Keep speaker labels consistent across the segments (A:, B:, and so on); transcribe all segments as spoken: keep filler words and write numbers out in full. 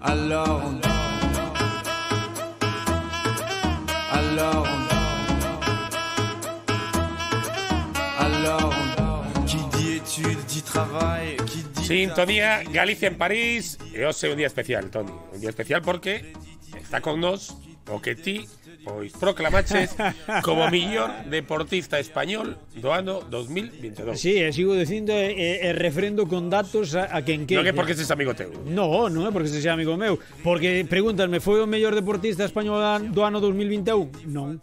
A: Alors on... Alors on... Alors on... Qui dit études, dit travail, qui dit...
B: Sintonía Galicia en París. E hoxe é un día especial, Toni. Un día especial porque está con nós o que ti pois proclamaches como millor deportista español do ano dos mil veintidós.
C: Sí, e sigo dicindo e, e refrendo con datos a, a quen que.
B: Non é porque seas amigo teu.
C: No, non é porque sexa amigo meu. Porque pregúntanme, foi o mellor deportista español do ano dos mil vinte e un? Non.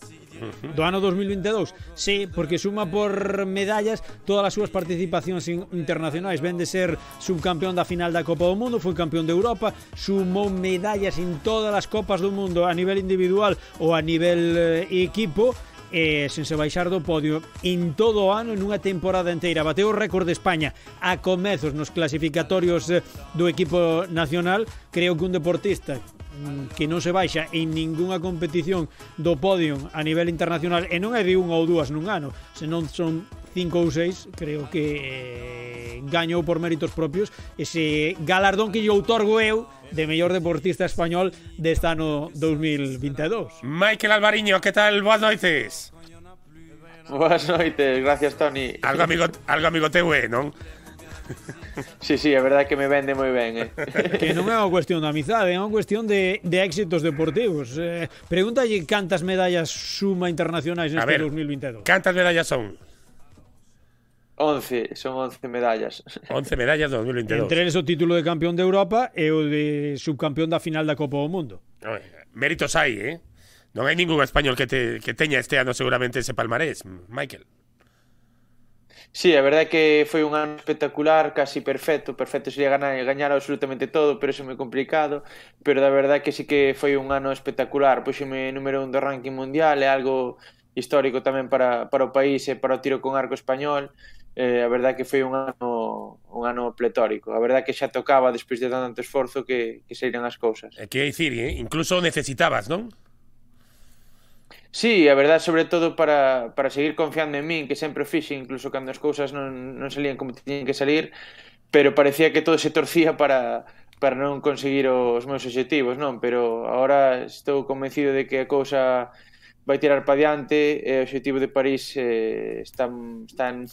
C: Do ano dos mil vinte e dous, sí, porque suma por medallas todas as súas participacións internacionais. Ven de ser subcampeón da final da Copa do Mundo, foi campeón de Europa, sumou medallas en todas as copas do mundo a nivel individual ou a nivel eh, equipo, e sen se baixar do podio en todo o ano, en unha temporada inteira. Bateu o récord de España a comezos nos clasificatorios eh, do equipo nacional. Creo que un deportista que non se baixa en ningunha competición do podio a nivel internacional, e non é de unha ou dúas nun ano, senón son cinco ou seis, creo que eh, gañou por méritos propios ese galardón que lle outorgo eu de mellor deportista español deste ano dos mil vinte e dous.
B: Michael Alvariño, que tal? Boas noites.
D: Boas noites, gracias, Toni.
B: Algo amigo, algo amigo teu, eh, non?
D: Sí, sí, é verdade que me vende moi ben, eh.
C: Que non é unha cuestión de amizade, é unha cuestión de, de éxitos deportivos. Eh, pregúntalle cantas medallas suma internacionais neste dos mil vinte e dous.
B: Cantas medallas son?
D: once, son once medallas.
B: once medallas dos mil vinte e dous.
C: Entre eles o título de campeón de Europa e o de subcampeón da final da Copa do Mundo.
B: Oye, méritos hai, eh? Non hai ningún español que, te, que teña este ano seguramente ese palmarés, Michael.
D: Sí, a verdade é que foi un ano espectacular, casi perfecto. Perfecto sería ganar, gañar absolutamente todo, pero iso é moi complicado. Pero da verdade que sí que foi un ano espectacular. Puxeme número un do ranking mundial, é algo histórico tamén para, para o país e para o tiro con arco español. Eh, a verdade que foi un ano un ano pletórico. A verdade que xa tocaba, despois de tanto esforzo, que, que seiran as cousas.
B: É que dicir, eh? Incluso necesitabas, non?
D: Sí, a verdade, sobre todo para, para seguir confiando en min, que sempre o fixe, incluso cando as cousas non, non salían como tiñen que salir, pero parecía que todo se torcía para, para non conseguir os meus obxectivos, non? Pero agora estou convencido de que a cousa vai tirar para diante, e o obxectivo de París eh, están, están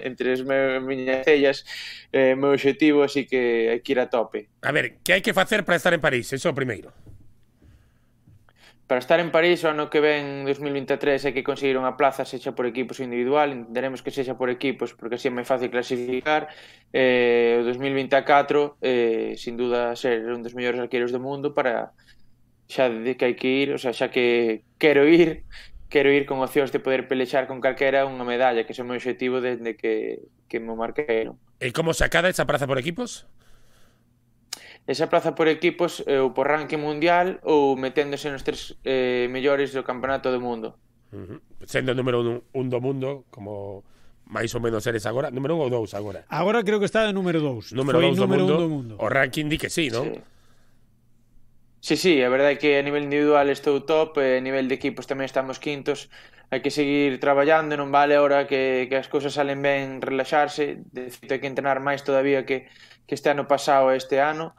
D: entre as miñas cellas, eh, meu obxectivo, así que hai que ir a tope.
B: A ver, que hai que facer para estar en París? Eso é o primeiro.
D: Para estar en París o ano que ven dos mil vinte e tres hai que conseguir unha plaza, sexa por equipos ou individual. Entenderemos que sexa por equipos porque así é máis fácil clasificar. eh, O dos mil vinte e catro eh, sin duda ser un dos mellores arqueiros do mundo, para xa de que hai que ir, o sea, xa que quero ir quero ir con opcións de poder pelexar con calquera unha medalla, que é o meu objetivo desde que, que me marquei, non?
B: E como se acada esa praza por equipos?
D: Esa praza por equipos ou por ranking mundial ou meténdose nos tres eh, mellores do campeonato do mundo.
B: Uh -huh. Sendo o número un, un do mundo, como máis ou menos eres agora. Número un ou dous agora?
C: Agora creo que está de número dous.
B: Número dous do, do mundo. O ranking di que sí, non?
D: Sí, sí, sí, a verdade é que a nivel individual estou top, e a nivel de equipos tamén estamos quintos. Hai que seguir traballando, non vale ahora que, que as cousas salen ben relaxarse. De feito, hai que entrenar máis todavía que, que este ano pasado e este ano.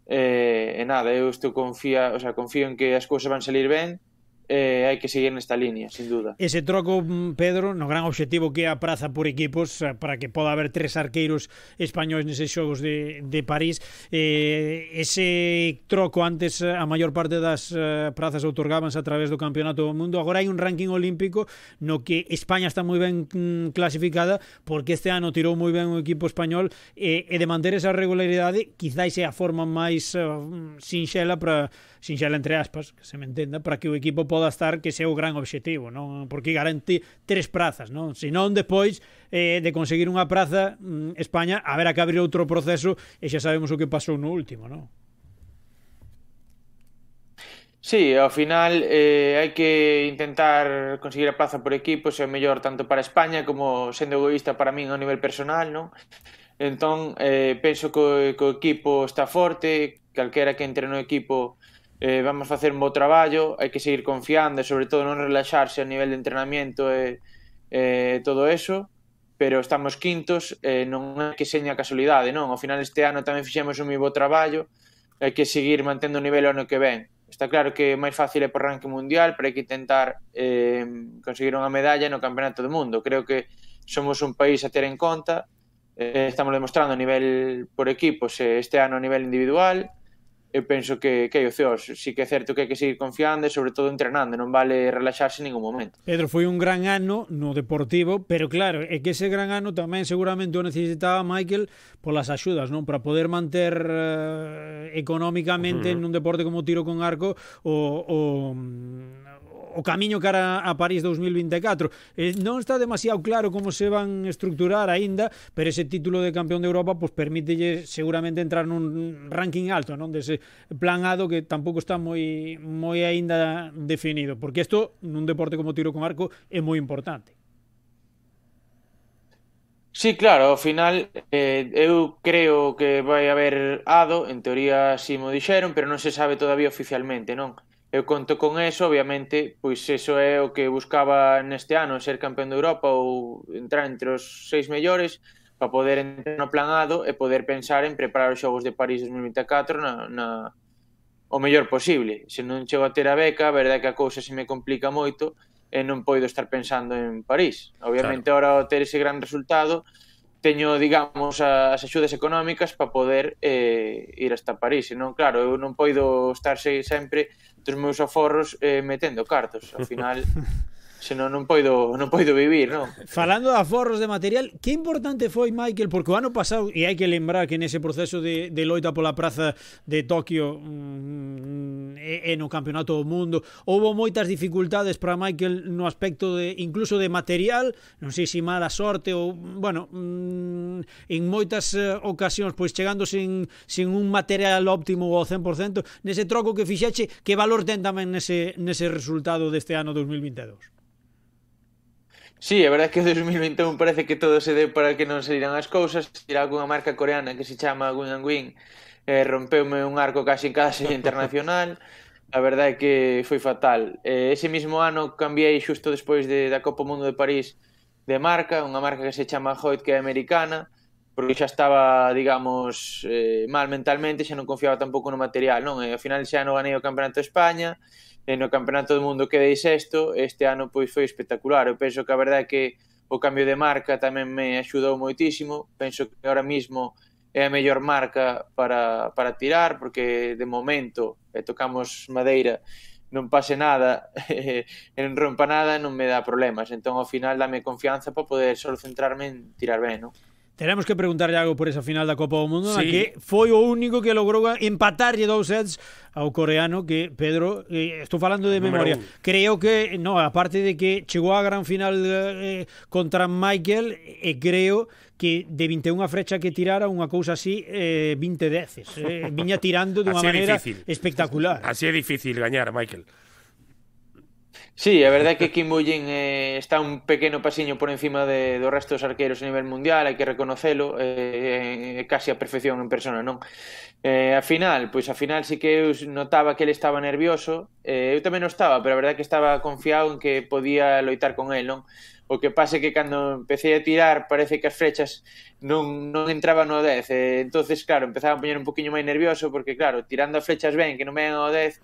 D: Eh, e nada, eu estou confía, o sea, confío en que as cousas van salir ben, e hai que seguir nesta línea, sin duda.
C: Ese troco, Pedro, no gran obxectivo que é a praza por equipos, para que poda haber tres arqueiros españois neses xogos de, de París, eh, ese troco antes a maior parte das uh, prazas outorgábanse a través do Campeonato do Mundo. Agora hai un ranking olímpico no que España está moi ben mm, clasificada, porque este ano tirou moi ben o equipo español, e, e de manter esa regularidade quizáis é a forma máis uh, sinxela para sinxela entre aspas, que se me entenda, para que o equipo poda estar, que sea o gran obxectivo, non? Porque garante tres prazas, non? Se non, depois eh, de conseguir unha praza, mm, España haberá que abrir outro proceso, e xa sabemos o que pasou no último, non?
D: Sí, ao final eh, hai que intentar conseguir a plaza por equipos, é o mellor tanto para España como, sendo egoísta, para min a nivel personal, non? Entón, eh, penso que, que o equipo está forte, calquera que entre no equipo eh, vamos facer un bo traballo, hai que seguir confiando e sobre todo non relaxarse a nivel de entrenamiento e eh, todo eso, pero estamos quintos, eh, non é que seña casualidade, non? Ao final este ano tamén fixemos un moi bo traballo, hai que seguir mantendo o nivel o ano que ven. Está claro que é máis fácil é por ranking mundial, pero hai que intentar eh, conseguir unha medalla no Campeonato do Mundo. Creo que somos un país a ter en conta, eh, estamos demostrando a nivel por equipos, eh, este ano a nivel individual. Eu penso que, que hai opcións. Si que é certo que hai que seguir confiando e sobre todo entrenando, non vale relaxarse en ningún momento.
C: Pedro, foi un gran ano no Deportivo, pero claro, é que ese gran ano tamén seguramente o necesitaba Michael polas axudas, non? Para poder manter uh, económicamente uh -huh. nun deporte como tiro con arco o, o, o camiño cara a París dos mil vinte e catro. Eh, non está demasiado claro como se van estructurar aínda, pero ese título de campeón de Europa pues permítelle seguramente entrar nun ranking alto, non? Dese plan A do que tampouco está moi moi aínda definido, porque isto nun deporte como tiro con arco é moi importante.
D: Sí, claro, ao final eh, eu creo que vai haber Ado, en teoría si mo dixeron, pero non se sabe todavía oficialmente, non? Eu conto con eso, obviamente, pois eso é o que buscaba neste ano, ser campeón de Europa ou entrar entre os seis mellores para poder entrar no plan Ado e poder pensar en preparar os Xogos de París dos mil vinte e catro na, na, o mellor posible. Se non chego a ter a beca, a verdade que a cousa se me complica moito e non poido estar pensando en París. Obviamente, claro, ahora ao ter ese gran resultado, teño, digamos, as axudas económicas para poder eh, ir hasta París. E non, claro, eu non poido estar sempre dos meus aforros eh, metendo cartos. Ao final, senón non poido, non poido vivir, non?
C: Falando de aforros de material, que importante foi, Michael, porque o ano pasado, e hai que lembrar que nese proceso de, de loita pola praza de Tokio mmm, e, e no Campeonato do Mundo, houve moitas dificultades para Michael no aspecto de, incluso de material, non sei se mala sorte ou, bueno, mmm, en moitas uh, ocasións, pois chegando sin, sin un material óptimo ao cen por cento, nese troco que fixeche, que valor ten tamén nese, nese resultado deste ano dos mil vinte e dous?
D: Sí, a verdade é que o dos mil vinte e un parece que todo se deu para que non se diran as cousas. Tira algunha marca coreana que se chama Gun Win, eh, rompeume un arco casi en cada serie internacional. A verdade é que foi fatal. Eh, ese mismo ano cambiei xusto despois de, da Copa Mundo de París de marca, unha marca que se chama Hoyt, que é americana, porque xa estaba, digamos, eh, mal mentalmente, xa non confiaba tampouco no material, non? E ao final xa non ganei o Campeonato de España, e no Campeonato do Mundo quedei sexto, este ano pois foi espectacular. Eu penso que a verdade é que o cambio de marca tamén me axudou moitísimo. Penso que ahora mismo é a mellor marca para, para tirar, porque de momento eh, tocamos madeira, non pase nada, e non rompa nada, non me dá problemas. Entón, ao final, dame confianza para poder solo centrarme en tirar ben, non?
C: Teremos que preguntarlle algo por esa final da Copa do Mundo, sí, na que foi o único que logrou empatarlle dous sets ao coreano, que Pedro, eh, estou falando de memoria, creo que, no, aparte de que chegou á gran final eh, contra Michael, e eh, creo que de vinte e unha frecha que tirara unha cousa así, eh, vinte deces, eh, viña tirando dunha maneira espectacular.
B: Así é difícil gañar, Michael.
D: Sí, a verdade é que Kim Woo-jin eh, está un pequeno pasiño por encima de, do resto dos arqueiros a nivel mundial, hai que reconocelo, é eh, casi a perfección en persona, non? Eh, a final, pois a final sí que eu notaba que ele estaba nervioso, eh, eu tamén non estaba, pero a verdade é que estaba confiado en que podía loitar con el, non? O que pasa é que cando empecé a tirar parece que as frechas non, non entraban no dez, eh, entonces claro, empezaba a poñer un poquinho máis nervioso, porque claro, tirando as flechas ben que non vengan ao dez,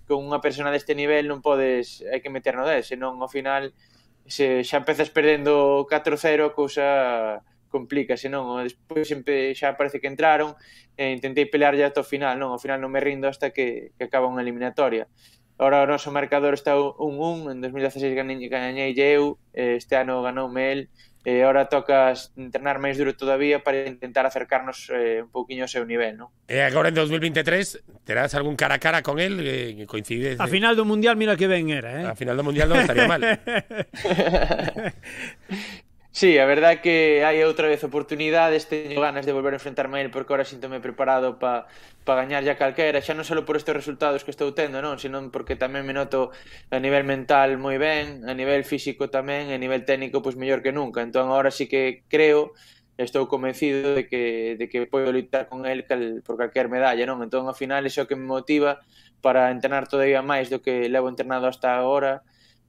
D: con unha persona deste nivel non podes, hai que meter no dez, senón ao final se xa empezas perdendo catro cero, a cousa complica, senón despois sempre xa parece que entraron e intentei pelear ya ata o final, non, ao final non me rindo hasta que, que acaba unha eliminatoria. Ahora o noso marcador está un un, en dos mil dezaseis ganei eu, este ano ganoume el, e agora toca entrenar máis duro todavía para intentar acercarnos eh, un pouquiño ao seu nivel, non?
B: E agora en dos mil vinte e tres terás algún cara a cara con él eh, que coincide...
C: A final do Mundial, mira que ben era, eh?
B: A final do Mundial non estaría mal.
D: Sí, a verdade é que hai outra vez oportunidades, teño ganas de volver a enfrentarme a él porque ahora síntome preparado para pa gañar ya calquera, xa non só por estes resultados que estou tendo, non, senón porque tamén me noto a nivel mental moi ben, a nivel físico tamén, e a nivel técnico pois mellor que nunca. Entón agora sí que creo, estou convencido de que de que podo lutar con él cal, por calquer medalla, non? Entón ao final iso é o que me motiva para entrenar todavía máis do que levo entrenado hasta agora.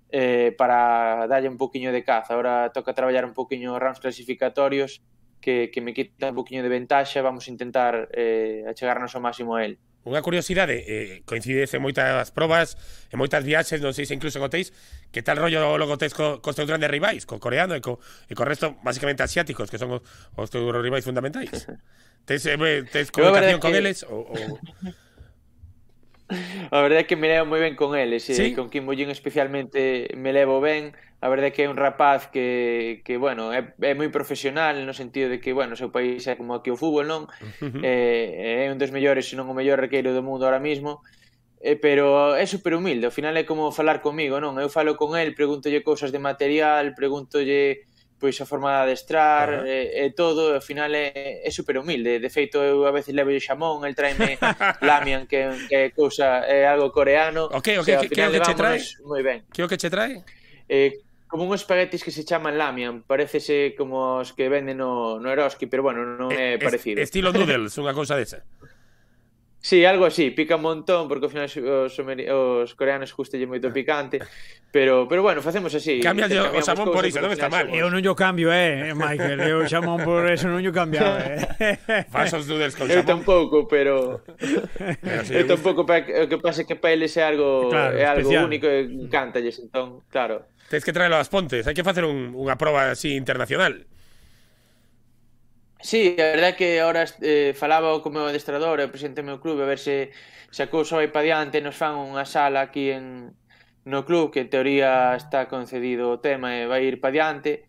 D: Eh, para darlle un poquinho de caza. Ahora toca traballar un poquinho rounds clasificatorios que, que me quita un poquinho de ventaxa. Vamos a intentar eh, achegarnos ao máximo a él.
B: unha curiosidade, eh, coincides en moitas probas, en moitas viaxes, non sei se incluso en hotéis, que tal rollo logo tes co, cos teus grandes rivais, co coreano e co, e co resto, basicamente asiáticos, que son os, os teus rivais fundamentais. Tes, eh, tes comunicación con que... eles? O, o...
D: A verdade é que me levo moi ben con eles,
B: ¿Sí?
D: eh, con Kim Bo-jin especialmente me levo ben. A verdade é que é un rapaz que, que bueno, é, é moi profesional no sentido de que, bueno, o seu país é como aquí o fútbol, non? Uh-huh. eh, é un dos mellores, se non o mellor arqueiro do mundo ahora mismo, eh, pero é super humilde, ao final é como falar comigo, non? Eu falo con el, pregúntolle cousas de material, pregúntolle pois a forma de adestrar, uh -huh. e, e todo, ao final é, é super humilde. De feito, eu a veces levo xamón, el traime lamian, que, que é cousa, é algo coreano.
B: Ok, ok, o sea, que, que é o que che trae?
D: Moi ben.
B: Que é o que che trae?
D: Eh, como uns espaguetis que se chaman lamian, parecese como os que venden no, no Eroski, pero bueno, non é, é parecido.
B: Estilo noodles, unha cousa desa.
D: Sí, algo así, pica un montón, porque ao final os, os coreanos gustalle moito picante, pero pero bueno, facemos así.
B: Cambias o xamón por iso, non está mal.
C: Eu non yo cambio, eh, Michael, eu xamón por eso non yo cambiaba, eh.
B: Fas os noodles con
D: xamón. Eu tampouco, pero
B: si
D: eu tampouco, o que pasa é que para eles é algo,
C: claro,
D: é algo
C: especial.
D: único e encántalles, entón, claro.
B: Tens que traelo ás Pontes, hai que facer un, unha proba así internacional.
D: Sí, a verdade é que agora eh, falaba co meu adestrador, o presidente do meu clube, a ver se, se a cousa vai pa diante, nos fan unha sala aquí en, no club, que en teoría está concedido o tema e vai ir pa diante,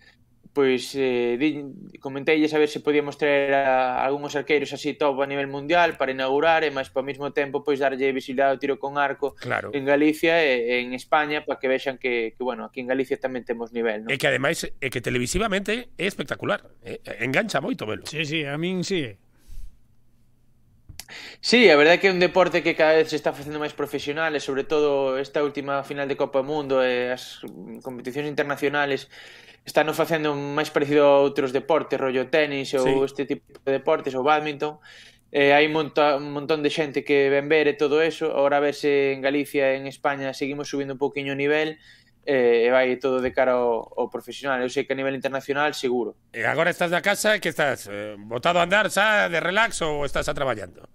D: pois eh, di, comenteilles a ver se podíamos traer a, a algúns arqueiros así top a nivel mundial para inaugurar e máis ao mesmo tempo pois darlle visibilidade ao tiro con arco
B: claro.
D: En Galicia e en España para que vexan que, que bueno, aquí en Galicia tamén temos nivel, ¿no?
B: E que ademais é que televisivamente é espectacular, eh, engancha moito velo.
C: Sí, sí, a min sí.
D: Sí, a verdade é que é un deporte que cada vez se está facendo máis profesional e sobre todo esta última final de Copa do Mundo e as competicións internacionales están facendo máis parecido a outros deportes, rollo tenis ou sí. Este tipo de deportes ou badminton. Eh, hai monta, un montón de xente que ven ver e todo eso. Agora a ver se en Galicia e en España seguimos subindo un pouquiño o nivel e eh, vai todo de cara ao, ao profesional. Eu sei que a nivel internacional seguro.
B: E agora estás na casa, que estás? Eh, botado a andar xa de relax ou estás a traballando?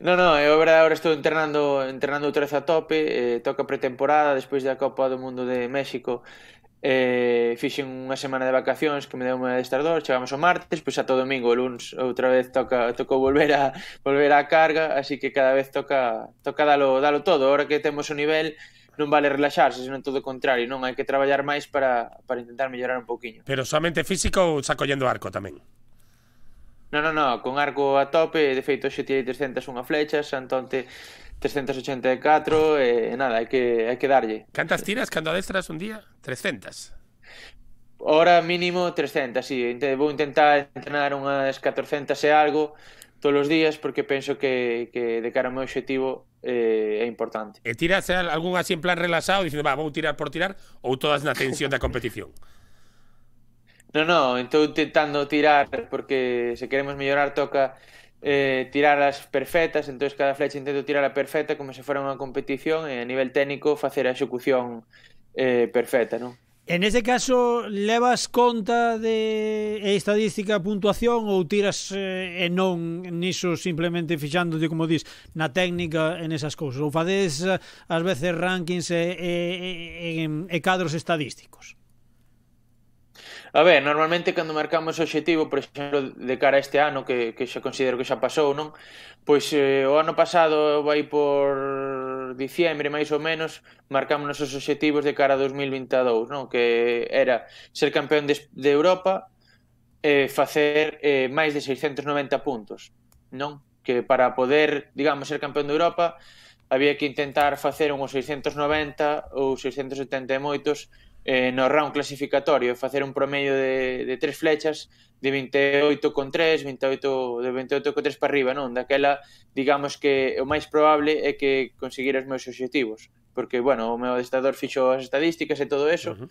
D: No, no, eu agora estou entrenando entrenando outra vez a tope, eh, toca pretemporada despois da Copa do Mundo de México. Eh, fixen unha semana de vacacións que me deu un adestrador, chegamos o martes, pois ata o domingo, o luns outra vez toca tocou volver a volver á carga, así que cada vez toca toca dalo dalo todo. Agora que temos o nivel non vale relaxarse, senón todo o contrario, non hai que traballar máis para para intentar mellorar un pouquiño.
B: Pero somente físico ou xa collendo arco tamén?
D: No, no, no, con arco a tope, de feito xe tirei trescentas e unha flechas, Antonte trescentas e ochenta e catro e nada, hai que hai que darlle.
B: Cantas tiras cando adestras un día? trescentas.
D: Hora mínimo trescentas, sí. Vou intentar entrenar unhas catorcentas e algo todos os días porque penso que, que de cara ao meu objetivo eh, é importante.
B: E tiras algún así en plan relaxado dicindo, va, vou tirar por tirar ou todas na tensión da competición?
D: No, no, estou intentando tirar porque se queremos mellorar toca eh, tirar as perfectas, entonces cada flecha intento tirar a perfecta como se fora unha competición e a nivel técnico facer a execución eh, perfecta, non?
C: En ese caso, levas conta de estadística, puntuación ou tiras eh, e non niso simplemente fixándote, como dis, na técnica en esas cousas? Ou fadedes ás veces rankings e, e, e, e cadros estadísticos?
D: A ver, normalmente cando marcamos o objetivo, por exemplo, de cara a este ano, que, que xa considero que xa pasou, non? Pois eh, o ano pasado vai por diciembre, máis ou menos, marcamos os objetivos de cara a dos mil vinte e dous, non? Que era ser campeón de, de Europa e eh, facer eh, máis de seiscentos noventa puntos, non? Que para poder, digamos, ser campeón de Europa había que intentar facer uns seiscentos noventa ou seiscentos setenta e moitos Eh, no round clasificatorio, facer un promedio de, de tres flechas de vinte e oito con tres, vinte e oito, de vinte e oito con tres para arriba, non? Daquela, digamos que o máis probable é que conseguir os meus obxectivos, porque, bueno, o meu adestrador fixo as estadísticas e todo eso uh -huh.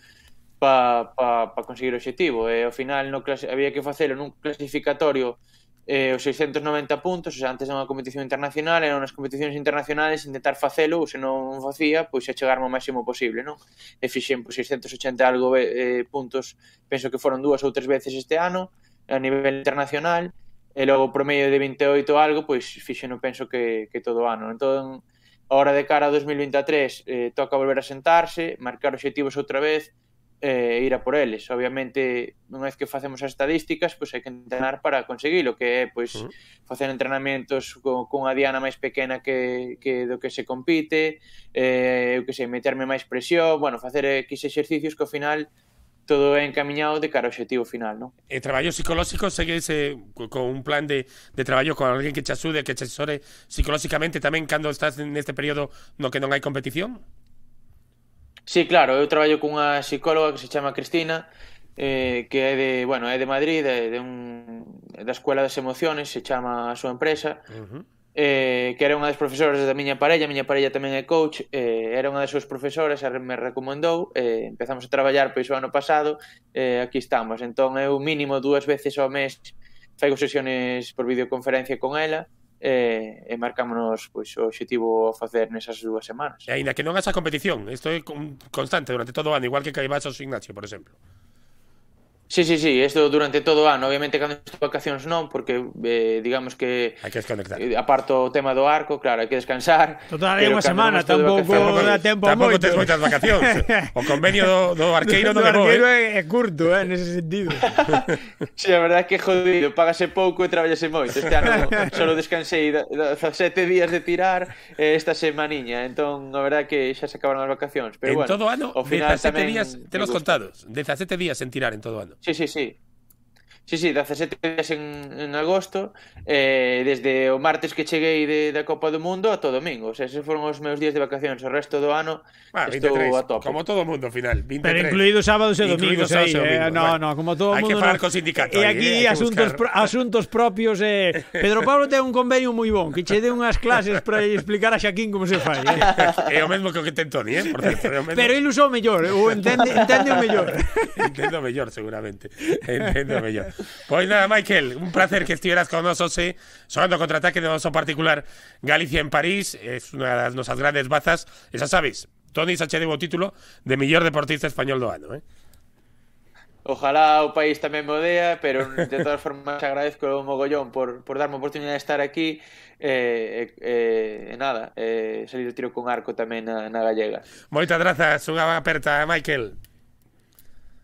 D: para pa, pa conseguir o obxectivo, e ao final no había que facelo nun clasificatorio eh, os seiscentos noventa puntos, o sea, antes de unha competición internacional, eran nas competicións internacionales intentar facelo, ou se non facía, pois a chegar ao máximo posible, non? E fixen pois, seiscentos ochenta algo eh, puntos, penso que foron dúas ou tres veces este ano, a nivel internacional, e logo por medio de vinte e oito algo, pois fixo non penso que, que todo o ano. Entón, ahora de cara a dos mil vinte e tres eh, toca volver a sentarse, marcar obxectivos outra vez, e eh, ir a por eles. Obviamente, unha vez que facemos as estadísticas, pois hai que entrenar para conseguilo, que é pois uh -huh. facer entrenamentos con, con a diana máis pequena que, que do que se compite, eh, eu que sei, meterme máis presión, bueno, facer X exercicios que ao final todo é encamiñado de cara ao objetivo final, non?
B: E traballo psicolóxico, segues eh, con un plan de, de traballo con alguén que te axude, que te asesore psicolóxicamente tamén cando estás neste período no que non hai competición?
D: Sí, claro, eu traballo cunha psicóloga que se chama Cristina, eh, que é de, bueno, é de Madrid, de, de un, da Escuela das Emociones, se chama a súa empresa, uh -huh. eh, que era unha das profesoras da miña parella, a miña parella tamén é coach, eh, era unha das súas profesoras, me recomendou, eh, empezamos a traballar pois o ano pasado, eh, aquí estamos, entón eu mínimo dúas veces ao mes faigo sesións por videoconferencia con ela, e, e marcámonos pois, o objetivo a facer nesas dúas semanas.
B: E aínda que non haxa competición, isto é constante durante todo o ano, igual que que vas ao gimnasio, por exemplo.
D: Sí, sí, sí, isto durante todo o ano. Obviamente, cando estou de vacacións non, porque eh, digamos que
B: hai que desconectar.
D: Eh, aparto o tema do arco, claro, hai que descansar.
C: Total, hai unha semana, tampouco dá tempo a moito.
B: Tampouco tes moitas vacacións. O convenio do, do arqueiro non é bo,
C: arqueiro
B: eh?
C: é curto, eh, nese sentido.
D: Sí, a verdade é que é jodido, págase pouco e traballase moito. Este ano só descansei sete días de tirar eh, esta semaniña, entón a verdade é que xa se acabaron as vacacións. Pero
B: en
D: bueno,
B: todo o ano,
D: ao final
B: dezasete días, te los
D: gusta.
B: contados, dezasete días en tirar en todo o ano.
D: Sí, sí, sí. Sí, sí, dezasete días en, en agosto, eh, desde o martes que cheguei de, da Copa do Mundo a todo domingo. O sea, esos foron os meus días de vacacións. O resto do ano
B: ah,
D: estou
B: veintitrés,
D: a tope.
B: Como todo o mundo, ao final. veintitrés.
C: Pero incluídos sábados e domingos. Aí,
B: domingo,
C: eh, no,
B: bueno.
C: no, como todo o mundo.
B: Hai que falar
C: no.
B: co sindicato.
C: E
B: aí,
C: aquí
B: eh,
C: asuntos, pro, asuntos propios. Eh. Pedro Pablo ten un convenio moi bon, que che dé unhas clases para explicar a Xaquín como se fai.
B: É
C: Eh.
B: o mesmo que o que ten Toni, eh? Por certo, é o mesmo.
C: Pero ele usou mellor, ou entende, entende o mellor.
B: Entendo mellor, seguramente. Entendo mellor. Pois nada, Michael, un placer que estiveras con nos hoxe, sonando contraataque de noso particular Galicia en París, es unha das nosas grandes bazas, e xa sabes, Toni xa che deu o título de mellor deportista español do ano, eh?
D: Ojalá o país tamén me odea, pero de todas formas agradezco o mogollón por, por darme a oportunidade de estar aquí e eh, eh, nada, eh, salir de tiro con arco tamén na, na gallega.
B: Moitas grazas, unha aperta, Michael.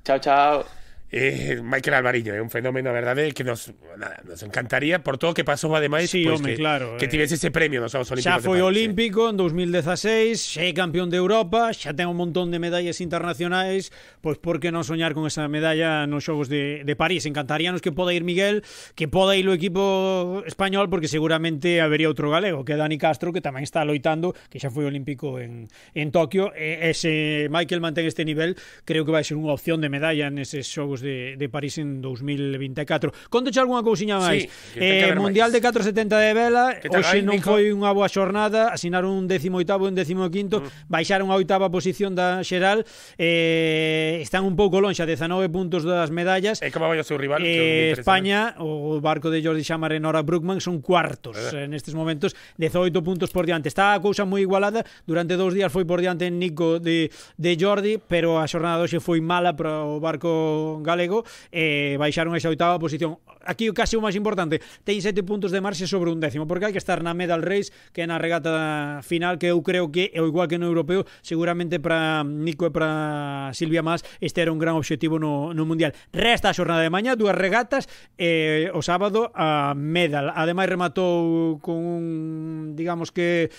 D: Chao, chao.
B: Eh, Michael Alvariño é un fenómeno, a verdade, que nos, nada, nos encantaría por todo o que pasou ademais,
C: sí,
B: pues,
C: home,
B: que,
C: claro,
B: que tivese ese premio nos Xogos Olímpicos.
C: Xa foi
B: de París,
C: olímpico en dos mil dezaseis, xa é campeón de Europa, xa ten un montón de medallas internacionais, pois por que non soñar con esa medalla nos Xogos de, de París? Encantaríanos que poda ir Miguel, que poda ir o equipo español, porque seguramente habería outro galego, que é Dani Castro, que tamén está loitando, que xa foi olímpico en, en Tokio, e ese Michael mantén este nivel, creo que vai ser unha opción de medalla neses Xogos de, de París en dos mil vinte e catro. Contoche algunha cousiña máis.
B: Sí,
C: eh, Mundial máis. De catro setenta de vela, hoxe non
B: Nico?
C: foi unha boa xornada, asinaron un décimo oitavo e un décimo quinto, mm. baixaron a oitava posición da xeral, eh, están un pouco lonxe a dezanove puntos das medallas.
B: E como vai o seu rival?
C: Eh, España, o barco de Jordi Xamar e Nora Brookman son cuartos eh, nestes momentos, dezoito puntos por diante. Está a cousa moi igualada, durante dous días foi por diante Nico de, de Jordi, pero a xornada hoxe foi mala para o barco galego, e baixaron esa oitava posición. Aquí casi o máis importante, ten sete puntos de marxe sobre un décimo, porque hai que estar na medal race, que é na regata final, que eu creo que é o igual que no europeo, seguramente para Nico e para Silvia Mas este era un gran obxectivo no, no mundial. Resta a xornada de mañá, dúas regatas, e o sábado a medal. Ademais rematou con un, digamos que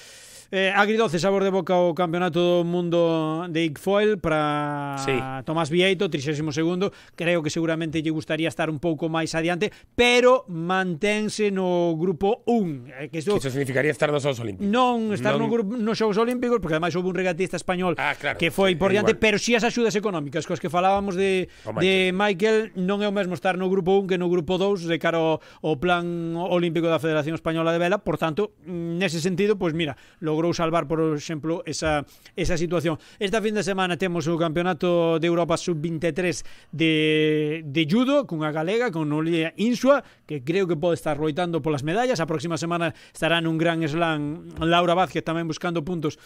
C: Eh, agridoce sabor de boca o campeonato do mundo de Igfoil para sí. Tomás Vieito, trixésimo segundo. Creo que seguramente lle gustaría estar un pouco máis adiante, pero mantense no grupo un. Eh, que, isto,
B: que iso significaría estar nos Xogos Olímpicos.
C: Non estar
B: non...
C: no grupo, nos Xogos Olímpicos, porque ademais houve un regatista español
B: ah, claro,
C: que foi
B: sí,
C: por diante,
B: igual.
C: pero si as axudas económicas cos que falábamos de, oh, Michael. de Michael, non é o mesmo estar no grupo un que no grupo dous de cara ao, ao plan olímpico da Federación Española de Vela. Por tanto, nese sentido, pois pues mira, logrou salvar, por exemplo, esa, esa situación. Esta fin de semana temos o Campeonato de Europa sub veintitrés de, de judo, cunha galega, con Noelia Insua, que creo que pode estar loitando polas medallas. A próxima semana estará nun gran slam Laura Vázquez tamén buscando puntos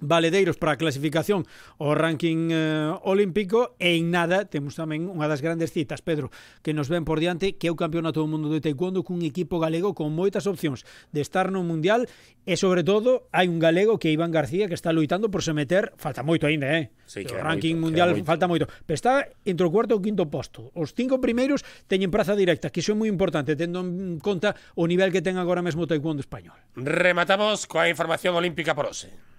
C: valedeiros para a clasificación ao ranking eh, olímpico, e en nada temos tamén unha das grandes citas, Pedro, que nos ven por diante, que é o Campeonato do Mundo de Taekwondo, cun equipo galego con moitas opcións de estar no Mundial, e sobre todo hai un galego que é Iván García, que está loitando por se meter, falta moito aínda, eh?
B: Sí,
C: o
B: queda
C: ranking
B: moito,
C: mundial
B: queda moito.
C: falta moito, pero está entre o cuarto e o quinto posto. Os cinco primeiros teñen praza directa, que iso é moi importante, tendo en conta o nivel que ten agora mesmo o Taekwondo español.
B: Rematamos coa información olímpica por hoxe.